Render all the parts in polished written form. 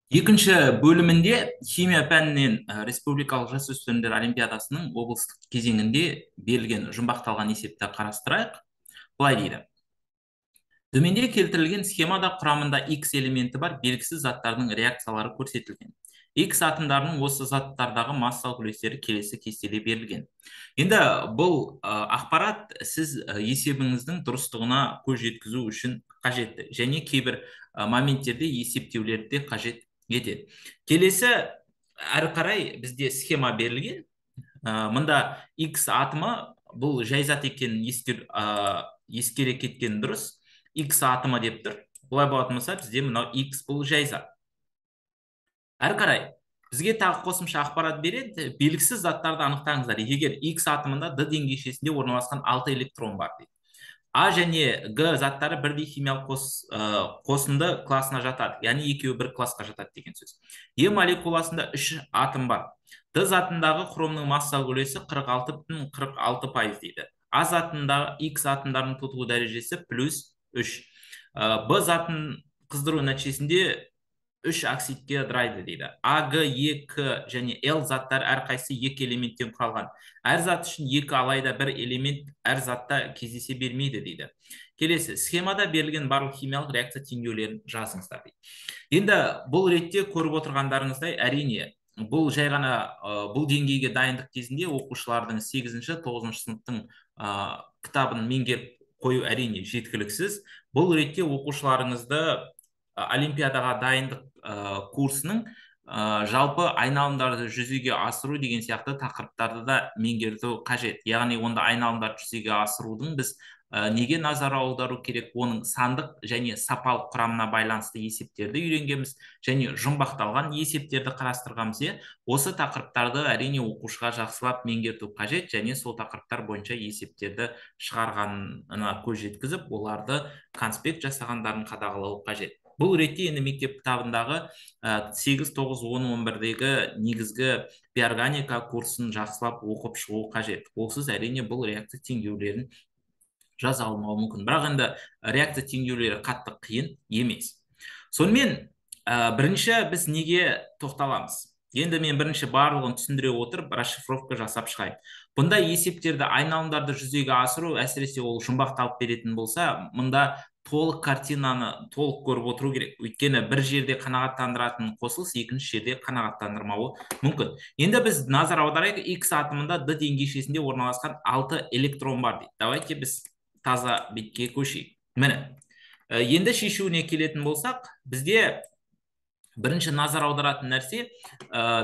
Екінші бөлімінде химия пәнінен республикалық жасөспірімдер олимпиадасының облыстық кезеңінде берілген жұмбақталған есепті қарастырайық. Былай дейді. Төменде келтірілген схемада құрамында X элементі бар белгісіз заттардың реакциялары көрсетілген. X атомдарының осы заттардағы массалық үлестері келесі кестеде берілген. Енді бұл ақпарат сіз есебіңіздің дұрыстығына көз жеткізу үшін қажетті және кейбір моменттерде есептеулерді қажет етеді. Келесі әрі қарай бізде схема берілген. Мында X атомы бұл жай зат екенін ескере кеткен дұрыс. X атомы деп тұр. Бұлай болатын болса, бізде мынау X бұл жай зат. Әрі қарай бізге тағы қосымша ақпарат береді. Белгісіз заттарды анықтаңыздар. Егер X атомында D деңгейшесінде орналасқан 6 электрон бар дейді. А және Г заттары бірдей химиялық қосынды классына жатады. Яғни екеуі бір классқа жатады деген сөз. Е молекуласында 3 атом бар. Д затындағы хромның массалық үлесі 46,46% дейді. А затындағы X атомдарының тотығу дәрежесі +3. Б затын қыздыру нәтижесінде 3 оксидке ыдырайды дейді. А, Г, Е, К және Л заттар әрқайсысы 2 элементтен құралған. Әр зат үшін 2 алайда 1 элемент әр затта кездесе бермейді дейді. Келесі, схемада берілген барлық химиялық реакция теңдеулерін жазыңыздар дейді. Енді бұл ретте көріп отырғандарыңыздай, әрине, бұл жай ғана бұл деңгейге дайындық кезінде оқушылардың 8-9 сыныптың кітабын меңгеріп қою әрине жеткіліксіз. Бұл ретте оқушыларыңызды олимпиадаға дайындық курсының жалпы айналымдарды жүзеге асыру деген сияқты тақырыптарды да меңгерту қажет. Яғни онда айналымдарды жүзеге асырудың біз неге назар аудару керек, оның сандық және сапалық құрамына байланысты есептерді үйренгенбіз және жұмбақталған есептерді қарастырғанбыз. Осы тақырыптарды әрине оқушыға жақсылап меңгерту қажет және сол тақырыптар бойынша есептерді шығарғанына көз жеткізіп, оларды конспект жасағандарын қадағалау қажет. Бұл ретте енді мектеп кітабындағы 8, 9, 10, 11-дегі негізгі биорганика курсын жақсылап оқып шығу қажет. Олсыз әрине бұл реакция теңдеулерін жаза алмауы мүмкін. Бірақ енді реакция теңдеулері қатты қиын емес. Сонымен бірінші біз неге тоқталамыз? Енді мен бірінші барлығын түсіндіре отырып, расшифровка жасап шығайын. Бұнда есептерді, айналымдарды жүзеге асыру, әсіресе ол жұмбақталып беретін болса, мұнда толық картинаны толық көріп отыру керек. Өйткені бір жерде қанағаттандыратын қосылыс екінші жерде қанағаттандырмауы мүмкін. Енді біз назар аударайық, X атомында D деңгейшесінде орналасқан 6 электрон бар дейді. Давайте біз таза бетке көшейік. Міне, енді шешуіне келетін болсақ, бізде бірінші назар аударатын нәрсе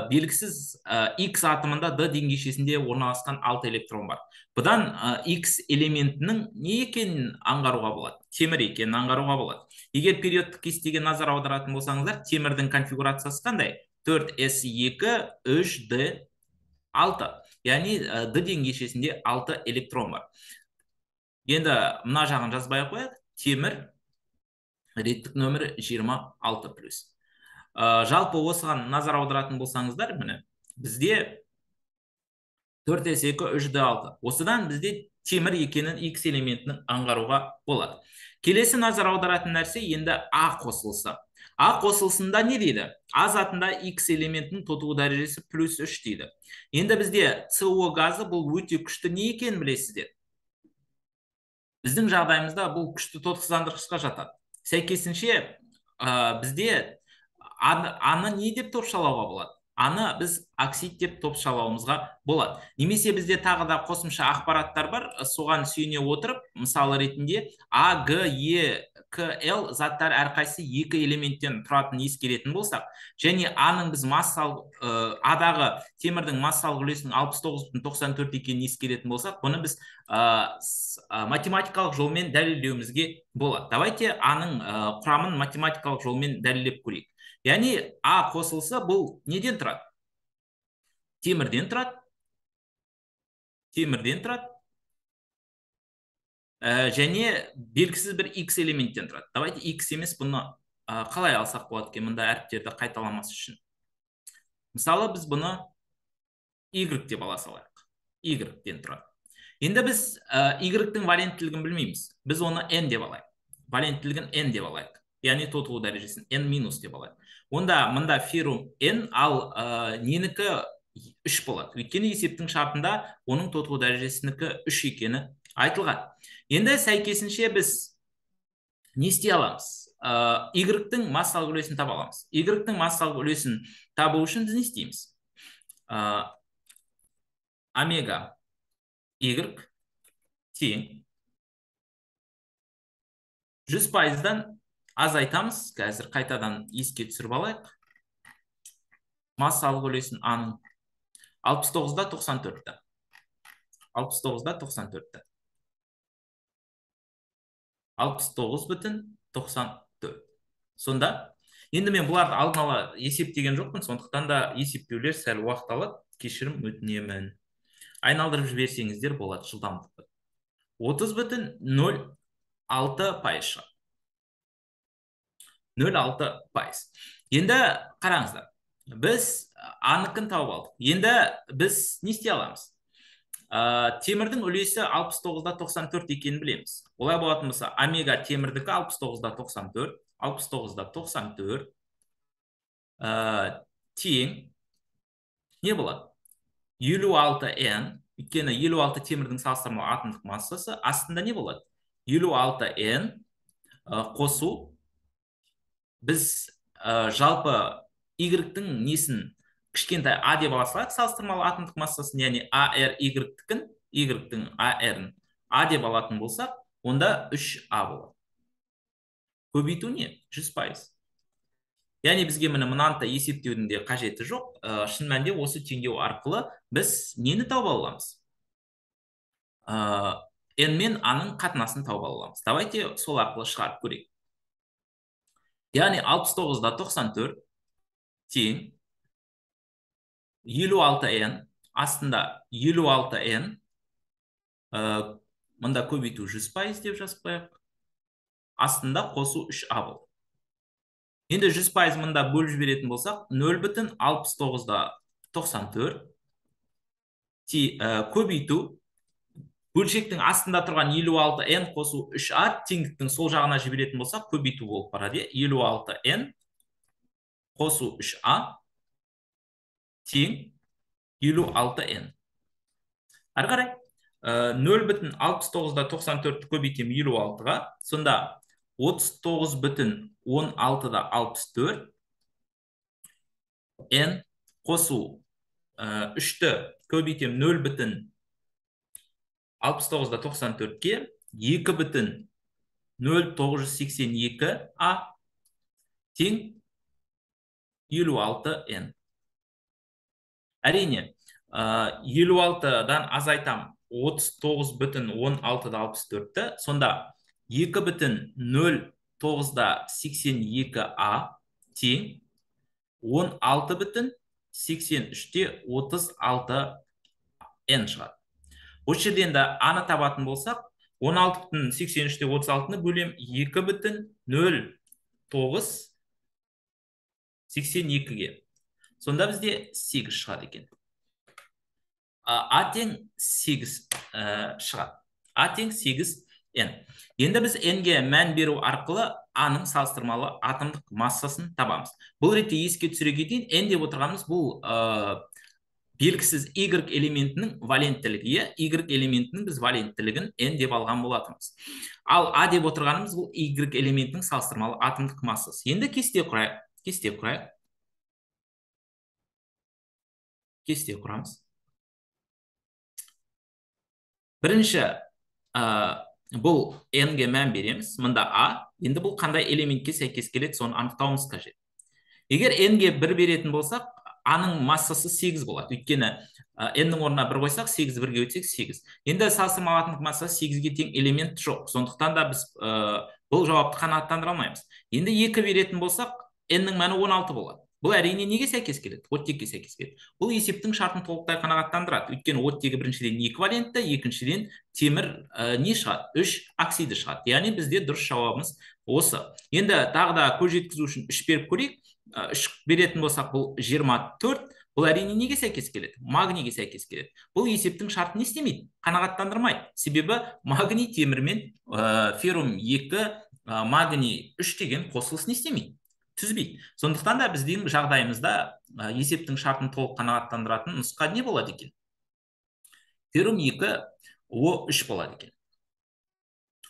белгісіз X атомында D деңгейшесінде орналасқан 6 электрон бар. Бұдан X элементінің не екенін аңғаруға болады? Темір екенін аңғаруға болады. Егер периодтық кестеге назар аударатын болсаңыздар, темірдің конфигурациясы қандай? 4s2 3d6. Яғни D деңгейшесінде 6 электрон бар. Енді мына жағын жазбай қояйық. Темір реттік нөмірі 26+. Жалпы осыған назар аударатын болсаңыздар, міне, бізде 4s2 3d6. Осыдан бізде темір екенін X элементінің аңғаруға болады. Келесі назар аударатын нәрсе енді А қосылысы. А қосылысында не дейді? А затында X элементінің тотығу дәрежесі +3 дейді. Енді бізде СО газы бұл өте күшті не екенін білесіздер? Біздің жағдайымызда бұл күшті тотықсыздандырғышқа жатады. Сәйкесінше бізде аны не деп топшалауға болады? Аны біз оксид деп топшалауымызға болады. Немесе бізде тағы да қосымша ақпараттар бар, соған сүйене отырып, мысалы ретінде А, Г, Е, К, Л заттар әрқайсысы 2 элементтен тұратын ескеретін болсақ, және Аның біз Адағы темірдің массалық үлесінің 69,94 екенін ескеретін болсақ, бұны біз математикалық жолмен дәлелдеуімізге болады. Давайте Аның құрамын математикалық жолмен дәлелдеп көрейік. Яғни А қосылысы бұл неден тұрады? Темірден тұрады. Және белгісіз бір X элементтен тұрады. Давайте X емес, бұны қалай алсақ болады екен, мұнда әріптерді қайталамас үшін. Мысалы, біз бұны Y деп ала салайық. Y-ден тұрады. Енді біз Y-тің валенттілігін білмейміз. Біз оны N деп алайық. Валенттілігін N деп алайық. яғни тотығу дәрежесін n минус деп алайық. Онда мында феррум n, ал ненікі 3 болады. Өйткені есептің шартында оның тотығу дәрежесінікі 3 екені айтылған. Енді сәйкесінше біз не істей аламыз? Y-тің массалық үлесін таба аламыз. Y-тің массалық үлесін табу үшін біз не істейміз? Омега Y тең 100%-дан азайтамыз. Қазір қайтадан еске түсіріп алайық. Массалық үлесін А-ның 69-да 94-та. 69-да 94-та. 69,94. Сонда, енді мен бұларды алдын ала есептеген жоқпын, сондықтан да есептеулер сәл уақыт алады. Кешірім өтінемін. Айналдырып жіберсеңіздер болады жылдамдықты. 30,06 пайыз. 0,6 пайыз. Енді қараңыздар. Біз анықын тауып алдық. Енді біз не істей аламыз? Темірдің үлесі 69-да 94 екенін білеміз. Олай болатын болса, омега темірдікі 69-да 94, 69-да 94 тең не болады? 56n, өйткені 56 темірдің салыстырмалы атомдық массасы, астында не болады? 56n қосу, біз жалпы Y-тің несін кішкентай А деп ала салайық, салыстырмалы атомдық массасын, яғни AR Y-тің, Y-тің AR-ін А деп алатын болсақ, онда 3А болады. Көбейту не? 100%. Яғни бізге мынанта есептеудің де қажеті жоқ. Шын мәнінде осы теңдеу арқылы біз нені тауып аламыз? N мен А-ның қатынасын тауып аламыз. Давайте сол арқылы шығарып көрейік. Яғни 69-да 94 тең 56n, астында 56n, мұнда көбейту 100% деп жазып қояйық. Астында қосу 3А болды. Енді 100% мұнда бөліп жіберетін болсақ, 0,69-да 94 көбейту, бөлшектің астында тұрған 56n қосу 3А, теңдіктің сол жағына жіберетін болсақ, көбейту болып барады. 56n қосу 3А тең 56n. Ары қарай 0,69-да 94 көбейтем 56-ға, сонда 39,16-да 64 n қосу 3-ті көбейтем 0,69-да 94-ке 2,0982А тең 56n. Әрине, 56-дан азайтам 39,16-да 64-ті, сонда 2,09-да 82А тең 16,83-те 36n шығады. Осы жерден де аны табатын болсақ, 16,83-те 36-ны бөлем 2,0982-ге. Сонда бізде 8 шығады екен. А тең 8 шығады. А тең 8n. Енді біз n-ге мән беру арқылы А-ның салыстырмалы атомдық массасын табамыз. Бұл ретте еске түсіре кетейін, n деп отырғанымыз бұл белгісіз Y элементінің валенттілігі. Y элементінің біз валенттілігін n деп алған болатынбыз. Ал А деп отырғанымыз бұл Y элементінің салыстырмалы атомдық массасы. Енді кесте құрайық. Кесте құрамыз. Бірінші, бұл n-ге мән береміз. Мұнда А. Енді бұл қандай элементке сәйкес келеді, соны анықтауымыз қажет. Егер n-ге 1 беретін болсақ, А-ның массасы 8 болады. Өйткені n-ның орнына 1 қойсақ, 8 1-ге өтсек 8. Енді салыстырмалы атомдық массасы 8-ге тең элемент жоқ. Сондықтан да біз бұл жауапты қанағаттандыра алмаймыз. Енді 2 беретін болсақ, n-ның мәні 16 болады. Бұл әрине неге сәйкес келеді? Оттекке сәйкес келеді. Бұл есептің шартын толықтай қанағаттандырады. Өйткені оттегі біріншіден 2 валентті, екіншіден темір не шығады? 3 оксиді шығады. Яғни бізде дұрыс жауабымыз осы. Енді тағы да көз жеткізу үшін 3 беріп көрейік. 3 беретін болсақ, бұл 24, бұл әрине неге сәйкес келеді? Магнийге сәйкес келеді. Бұл есептің шартын не істемейді? Қанағаттандырмайды. Себебі магний темірмен феррум 2, магний 3 деген қосылыс не істемейді? Түзбейді. Сондықтан да біздің жағдайымызда есептің шартын толық қанағаттандыратын нұсқа не болады екен? Феррум 2 О3 болады екен.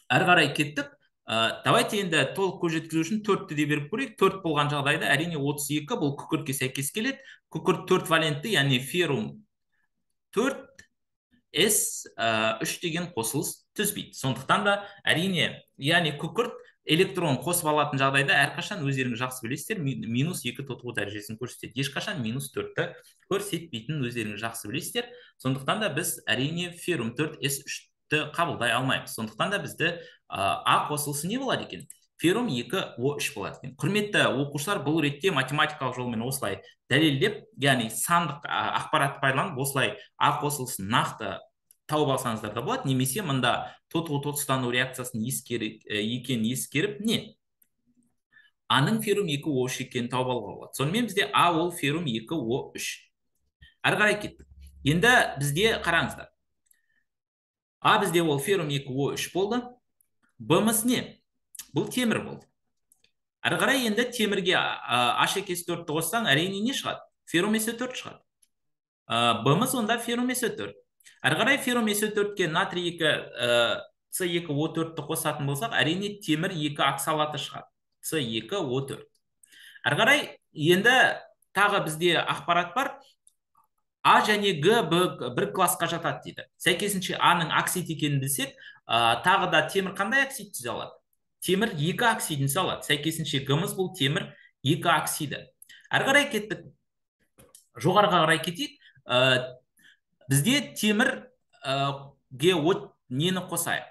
Әрі қарай кеттік. Давайте енді толық көз жеткізу үшін 4-ті де беріп көрейік. 4 болған жағдайда әрине 32 бұл күкіртке сәйкес келеді. Күкірт 4 валентті, яғни феррум 4 S3 деген қосылыс түзбейді. Сондықтан да әрине, яғни күкірт электрон қосып алатын жағдайда әрқашан өздеріңіз жақсы білесіздер, -2 тотығу дәрежесін көрсетеді. Ешқашан -4-ті көрсетпейтінін өздеріңіз жақсы білесіздер. Сондықтан да біз әрине феррум 4 S3-ті қабылдай алмаймыз. Сондықтан да бізді А қосылысы не болады екен? Феррум 2 О3 болады екен. Құрметті оқушылар, бұл ретте математикалық жолмен осылай дәлелдеп, яғни сандық ақпаратты пайдаланып, осылай А қосылысын нақты тауып алсаңыздар да болады. Немесе мында тотығу тотыстану реакциясын ескеріп, не? Аның феррум 2 О3 екенін тауып алуға болады. Сонымен бізде А ол феррум 2 О3. Әрі қарай кеттік. Енді бізде қараңыздар. А бізде ол феррум 2 О3 болды. Б-мыз не? Бұл темір болды. Әрі қарай енді темірге H2S4-ті қоссаң, әрине не шығады? Феррум S4 шығады. Б-мыз онда феррум S4. Әрі қарай феррум S4-ке натрий 2 С2O4-ті қосатын болсақ, әрине темір 2 оксалаты шығады. С2O4. Әрі қарай енді тағы бізде ақпарат бар. А және Г бір классқа жатады дейді. Сәйкесінше Аның оксид екенін білсек, тағы да темір қандай оксид түзе алады? Темір 2 оксидін түзе алады. Сәйкесінше Г-мыз бұл темір 2 оксиді. Әрі қарай кеттік. Жоғарыға қарай кетейік. Бізде темір Г нені қосайық?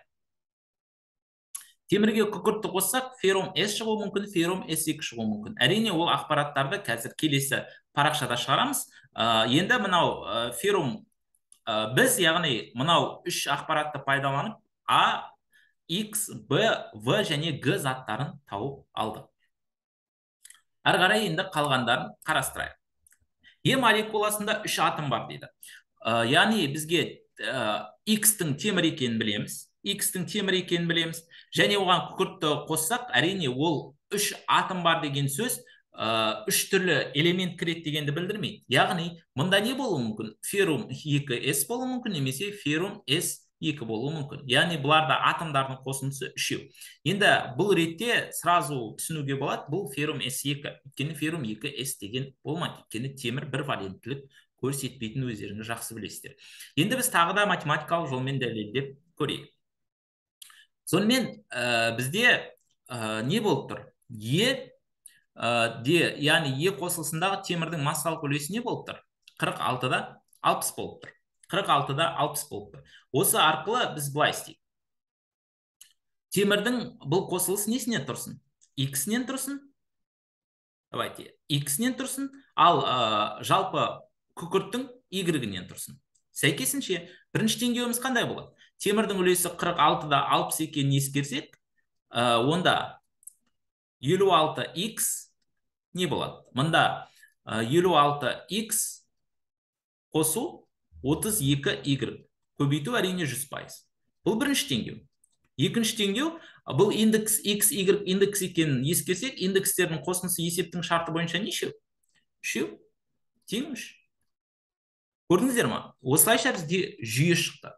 Темірге күкіртті қоссақ, феррум S шығуы мүмкін, феррум S2 шығуы мүмкін. Әрине ол ақпараттарды қазір келесі парақшада шығарамыз. Енді мынау феррум біз, яғни мынау 3 ақпаратты пайдаланып А, X, B, В және Г заттарын тауып алдық. Әрі қарай енді қалғандарын қарастырайық. Е молекуласында 3 атом бар дейді. Яғни бізге X-тің темір екенін білеміз. X-тің темір екенін білеміз. Және оған күкіртті қоссақ, әрине ол 3 атом бар деген сөз 3 түрлі элемент кіреді дегенді білдірмейді. Яғни, мұнда не болуы мүмкін? Феррум 2S болуы мүмкін, немесе феррум S2 болуы мүмкін. Яғни, бұларда атомдардың қосындысы 3. Енді бұл ретте сразу түсінуге болады, бұл феррум S2. Өйткені феррум 2S деген болмайды. Өйткені темір бір валенттілік көрсетпейтін өздеріңіз жақсы білесіздер. Енді біз тағы да математикалық жолмен дәлелдеп көрейік. Сонымен бізде не болып тұр? Яғни Е қосылысындағы темірдің массалық үлесі не болып тұр? 46-да 60 болып тұр. 46-да 60 болып тұр. Осы арқылы біз былай істейік. Темірдің бұл қосылыс несінен тұрсын? X-нен тұрсын? Давайте, X-нен тұрсын, ал жалпы күкірттің Y-нен тұрсын. Сәйкесінше, бірінші теңдеуіміз қандай болады? Темірдің үлесі 46-да 60 екенін ескерсек, онда 56X не болады? Мұнда 56X қосу 32Y. Көбейту әрине 100%. Бұл бірінші теңдеу. Екінші теңдеу, бұл индекс X, Y индекс екенін ескерсек, индекстердің қосындысы есептің шарты бойынша нешеу? 3, тең 3. Көрдіңіздер ма? Осылайша бізде жүйе шықты.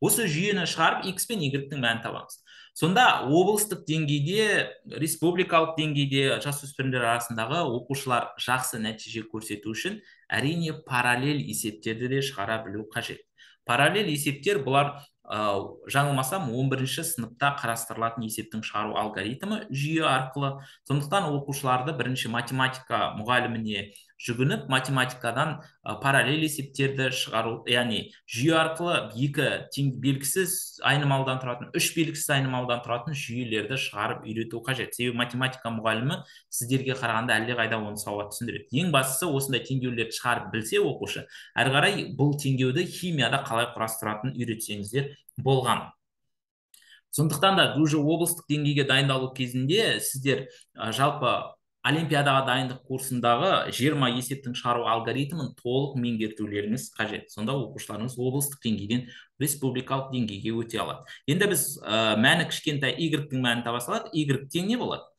Осы жүйені шығарып X пен Y-тің мәнін табамыз. Сонда облыстық деңгейде, республикалық деңгейде жасөспірімдер арасындағы оқушылар жақсы нәтиже көрсету үшін әрине параллель есептерді де шығара білу қажет. Параллель есептер бұлар жаңылмасам 11-ші сыныпта қарастырылатын есептің шығару алгоритмі жүйе арқылы. Сондықтан оқушыларды бірінші математика мұғаліміне жүгініп, математикадан параллель есептерді шығару, яғни жүйе арқылы 2 белгісіз айнымалыдан тұратын, 3 белгісіз айнымалыдан тұратын жүйелерді шығарып үйрету қажет. Себебі математика мұғалімі сіздерге қарағанда әлдеқайда оны сауат түсіндіреді. Ең бастысы осындай теңдеулерді шығарып білсе оқушы, әрі қарай бұл теңдеуді химияда қалай құрастыратынын үйретсеңіздер болған. Сондықтан да уже облыстық деңгейге дайындалу кезінде сіздер жалпы олимпиадаға дайындық курсындағы 20 есептің шығару алгоритмін толық меңгертулеріңіз қажет. Сонда оқушыларыңыз облыстық деңгейден республикалық деңгейге өте алады. Енді біз мәні кішкентай y-тің мәнін таба салайық. Y тең не болады?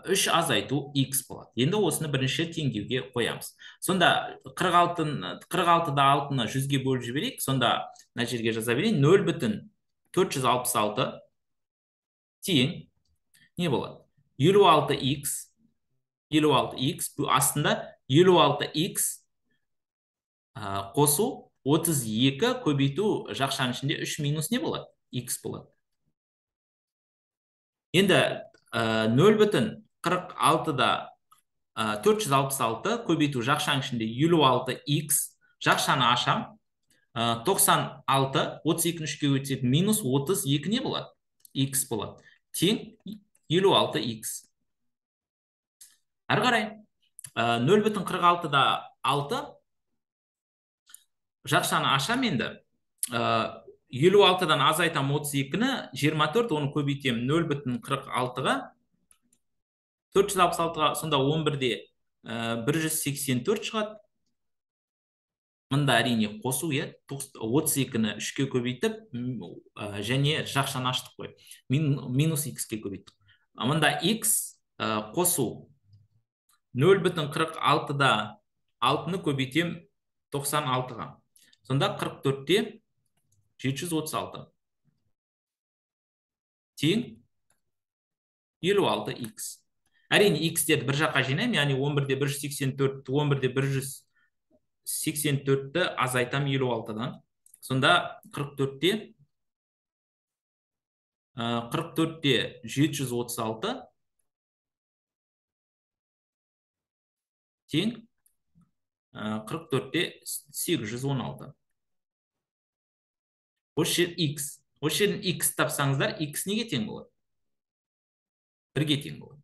3 азайту x болады. Енді осыны бірінші теңдеуге қоямыз. Сонда 46-да 6-ны 100-ге бөліп жіберейік. Сонда мына жерге жаза берейін. 0,466 тең не болады? 56x 56x астында 56x қосу 32 көбейту жақшаның ішінде 3 минус не болады? X болады. Енді 0,46-да 466 көбейту жақшаның ішінде 56x жақшаны ашам. 96 32-ні 3-ке өтсек минус 32 не болады? X болады. Тең 56x. Әрі қарай 0,46-да 6 жақшаны ашам енді. 56-дан азайтам 32-ні 24, оны көбейтем 0,46-ға 466-ға, сонда 11-де 184 шығады. Мында әрине қосу, 32-ні 3-ке көбейтіп, және жақшаны аштық қой. Минус x-ке көбейттік. Мында x қосу 0,46-да 6-ны көбейтем 96-ға. Сонда 44-те 736. Тең 56x. Әрине x-терді бір жаққа жинайым, яғни 11-де 184, 11-де 184-ті азайтам 56-дан. Сонда 44-те 736 тең 44-те 816. Осы жер x. Осы жерден x тапсаңыздар, x неге тең болады? 1-ге тең болады.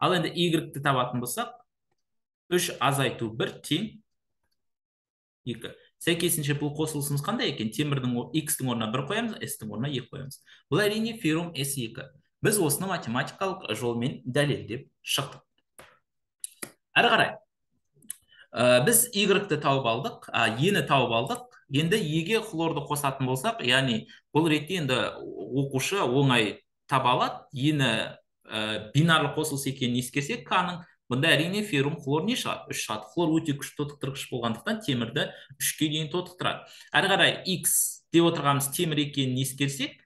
Ал енді y-ті табатын болсақ, 3 азайту 1 тең 2. Сәйкесінше бұл қосылысымыз қандай екен? Темірдің x-тің орнына 1 қоямыз, s-тің орнына 2 қоямыз. Бұл әрине феррум S2. Біз осыны математикалық жолмен дәлелдеп шықтық. Әрі қарай, біз y-ті тауып алдық, e-ні тауып алдық. Енді e-ге хлорды қосатын болсақ, яғни бұл ретте енді оқушы оңай таба алады. E-ні бинарлы қосылыс екенін ескерсек, К-ның, бұнда әрине феррум хлор не шығады? 3 шығады. Хлор өте күшті тотықтырғыш болғандықтан темірді 3-ке дейін тотықтырады. Әрі қарай x деп отырғанымыз темір екенін ескерсек,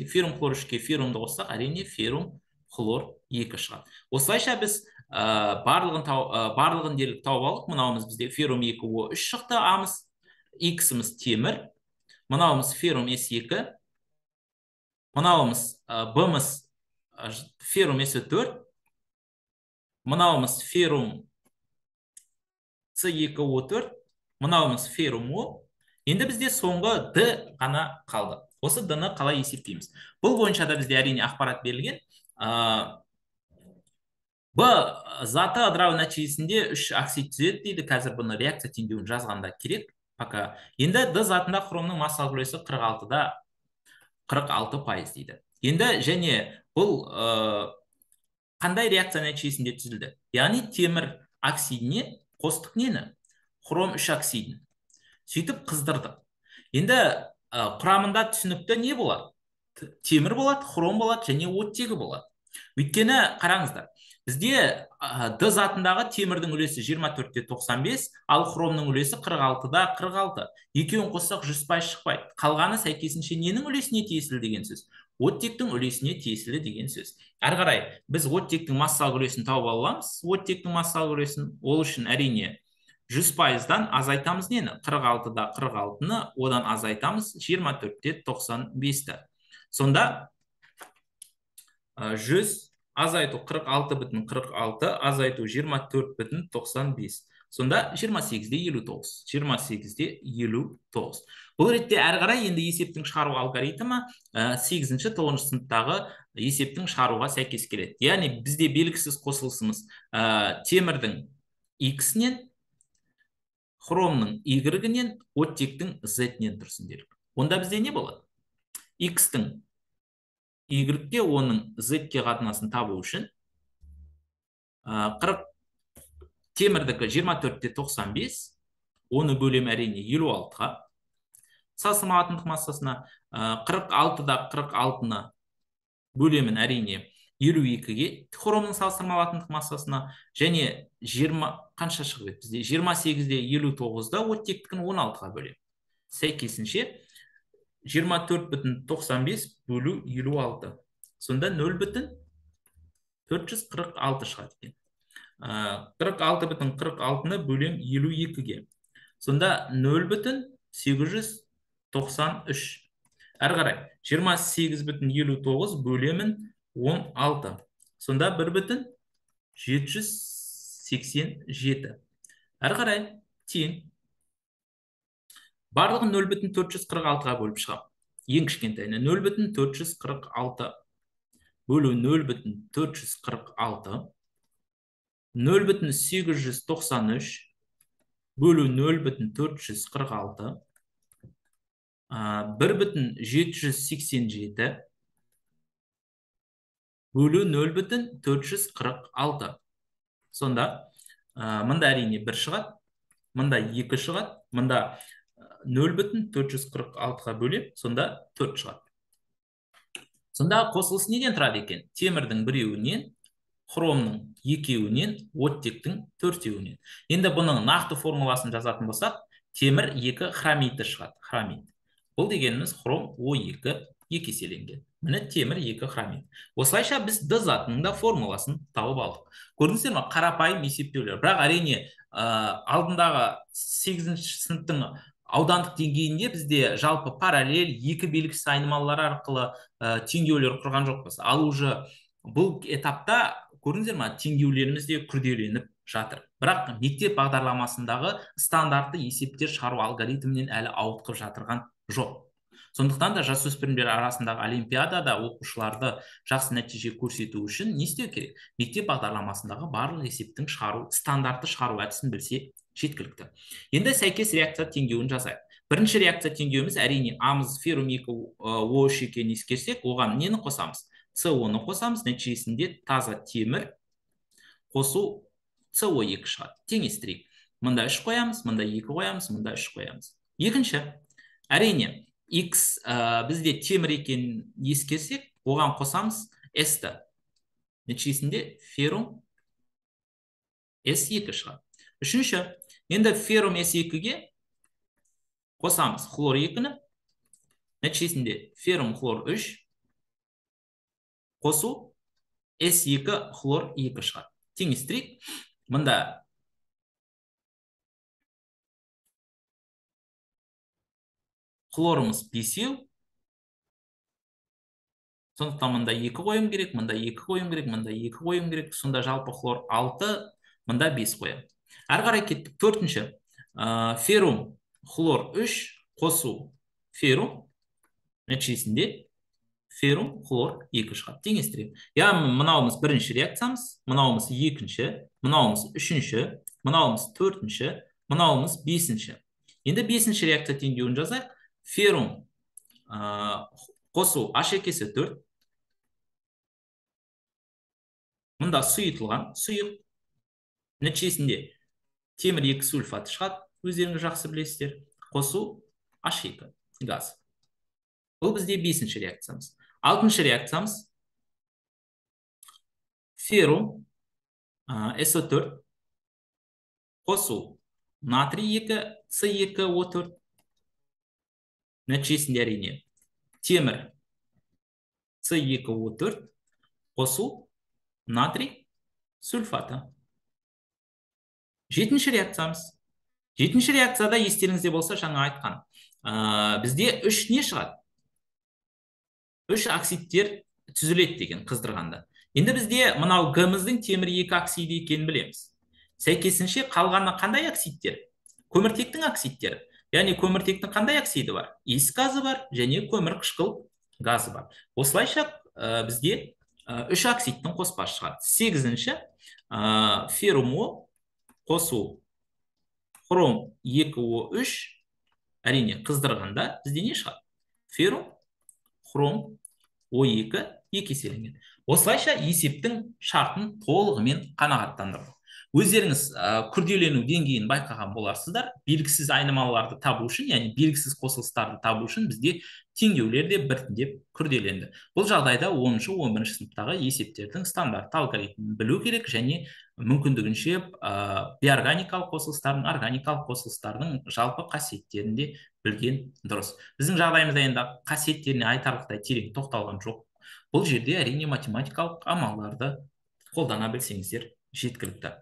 феррум хлор 3-ке феррумды қоссақ, әрине феррум хлор 2 шығады. Осылайша біз барлығын дерлік тауып алдық. Мынауымыз бізде феррум 2O3 шықты, амыз, x-іміз темір, мынауымыз феррум S2, мынауымыз b-міз феррум S4, мынауымыз феррум C2O4, мынауымыз феррум O. Енді бізде соңғы D ғана қалды. Осы D-ны қалай есептейміз? Бұл бойынша да бізде әрине ақпарат берілген. B заты ыдырау нәтижесінде 3 оксид түзеді дейді. Қазір бұны реакция теңдеуін жазғанда керек. Пока. Енді D затында хромның массалық үлесі 46-да 46% дейді. Енді және бұл қандай реакция нәтижесінде түзілді? Яғни темір оксидіне қостық нені? Хром 3 оксидін. Сөйтіп қыздырдық. Енді құрамында түсінікті не болады? Темір болады, хром болады және оттегі болады. Өйткені қараңыздар, бізде D затындағы темірдің үлесі 24-те 95, ал хромның үлесі 46-да 46. Екеуін қоссақ 100% шықпайды. Қалғаны сәйкесінше ненің үлесіне тиесілі деген сөз? Оттектің үлесіне тиесілі деген сөз. Әрі қарай, біз оттектің массалық үлесін тауып аламыз. Оттектің массалық үлесін, ол үшін әрине 100%-дан азайтамыз нені? 46-да 46-ны, одан азайтамыз 24-те 95-ті. Сонда 100 азайту 46,46, азайту 24,95. Сонда 28-де 59. 28-де 59. Бұл ретте әрі қарай енді есептің шығару алгоритмі 8-ші 9-шы сыныптағы есептің шығаруға сәйкес келеді. Яғни бізде белгісіз қосылысымыз темірдің x-нен, хромның y-нен, оттектің z-нен тұрсын делік. Онда бізде не болады? X-тің y-ге, оның z-ге қатынасын табу үшін 40 темірдікі 24/95, оны бөлем әрине 56-ға. Салыстырмалы атомдық массасына 46-да 46-ны бөлемін әрине 52-ге, хромның салыстырмалы атомдық массасына, және 20 қанша шығып еді бізде? 28-де 59-да оттектікін 16-ға бөлем. Сәйкесінше 24,95 бөлу 56. Сонда 0,446 шығады екен. 46,46-ны бөлем 52-ге. Сонда 0,893. Әрі қарай 28,59 бөлемін 16. Сонда 1,787. Әрі қарай тең. Барлығын 0,446-ға бөліп шығам. Ең кішкентайына 0,446 бөлу 0,446, 0,893 бөлу 0,446, 1,787 бөлу 0,446. Сонда мында әрине 1 шығады, мында 2 шығады, мында 0,446-ға бөлеп, сонда 4 шығады. Сонда қосылыс неден тұрады екен? Темірдің 1-еуінен, хромның 2-еуінен, оттектің 4-еуінен. Енді бұның нақты формуласын жазатын болсақ, темір 2 хромиді шығады. Хромид. Бұл дегеніміз хром O2 2 еселенген. Міне темір 2 хромид. Осылайша біз Д затының да формуласын тауып алдық. Көрдіңіздер ме? Қарапайым есептеулер. Бірақ әрине алдындағы 8-ші сыныптың аудандық деңгейінде бізде жалпы параллель 2 белгісіз айнымалылар арқылы теңдеулер құрған жоқпыз. Ал уже бұл этапта көрдіңіздер ме, теңдеулеріміз де күрделеніп жатыр. Бірақ мектеп бағдарламасындағы стандартты есептер шығару алгоритмінен әлі ауытқып жатырған жоқ. Сондықтан да жасөспірімдер арасындағы олимпиадада оқушыларды жақсы нәтиже көрсету үшін не істеу керек? Мектеп бағдарламасындағы барлық есептің стандартты шығару әдісін білсе жеткілікті. Енді сәйкес реакция теңдеуін жасайық. Бірінші реакция теңдеуіміз әрине амыз феррум 2O3 екенін ескерсек, оған нені қосамыз? СО-ны қосамыз, нәтижесінде таза темір қосу СО2 шығады. Теңестірейік. Мында 3 қоямыз, мында 2 қоямыз, мында 3 қоямыз. Екінші, әрине X бізде темір екенін ескерсек, оған қосамыз S-ті. Нәтижесінде феррум S2 шығады. Үшінші, енді феррум S2-ге қосамыз хлор 2-ні. Нәтижесінде феррум хлор 3 қосу S2 хлор 2 шығады. Теңестірейік. Мында хлорымыз 5-еу. Сондықтан мында 2 қойым керек, мында 2 қойым керек, мында 2 қойым керек. Сонда жалпы хлор 6, мында 5 қойым. Әрі қарай кеттік. Төртінші, феррум хлор 3 қосу феррум. Нәтижесінде феррум хлор 2 шығады. Теңестірейік. Яғни мынауымыз бірінші реакциямыз, мынауымыз екінші, мынауымыз үшінші, мынауымыз төртінші, мынауымыз бесінші. Енді бесінші реакция теңдеуін жазайық. Феррум қосу H2-сі 4. Мұнда сұйытылған сұйық. Нәтижесінде темір 2 сульфаты шығады. Өздеріңіз жақсы білесіздер. Қосу H2 газ. Бұл бізде бесінші реакциямыз. Алтыншы реакциямыз феррум SO4 қосу натрий 2 C2O4. Нәтижесінде әрине темір C2O4 қосу натрий сульфаты. Жетінші реакциямыз. Жетінші реакцияда естеріңізде болса жаңа айтқан. Бізде 3 не шығады? 3 оксидтер түзіледі деген қыздырғанда. Енді бізде мынау Г-міздің темір 2 оксиді екенін білеміз. Сәйкесінше қалғаны қандай оксидтер? Көміртектің оксидтері. Яғни көміртектің қандай оксиді бар? Иіс газы бар және көмір қышқыл газы бар. Осылайша бізде 3 оксидтің қоспасы шығады. 8-ші феррум О қосу хром 2O3 әрине қыздырғанда бізде не шығады? Феррум хром O2 2 еселенген. осылайша есептің шартын толығымен қанағаттандырды. Өздеріңіз күрделену деңгейін байқаған боларсыздар. Белгісіз айнымалыларды табу үшін, яғни белгісіз қосылыстарды табу үшін бізде теңдеулер де біртіндеп күрделенді. Бұл жағдайда 10-шы 11-ші сыныптағы есептердің стандартты алгоритмін білу керек және мүмкіндігінше бейорганикалық қосылыстардың, органикалық қосылыстардың жалпы қасиеттерін де білген дұрыс. Біздің жағдайымызда енді қасиеттеріне айтарлықтай терең тоқталған жоқ. Бұл жерде әрине математикалық амалдарды қолдана білсеңіздер жеткілікті.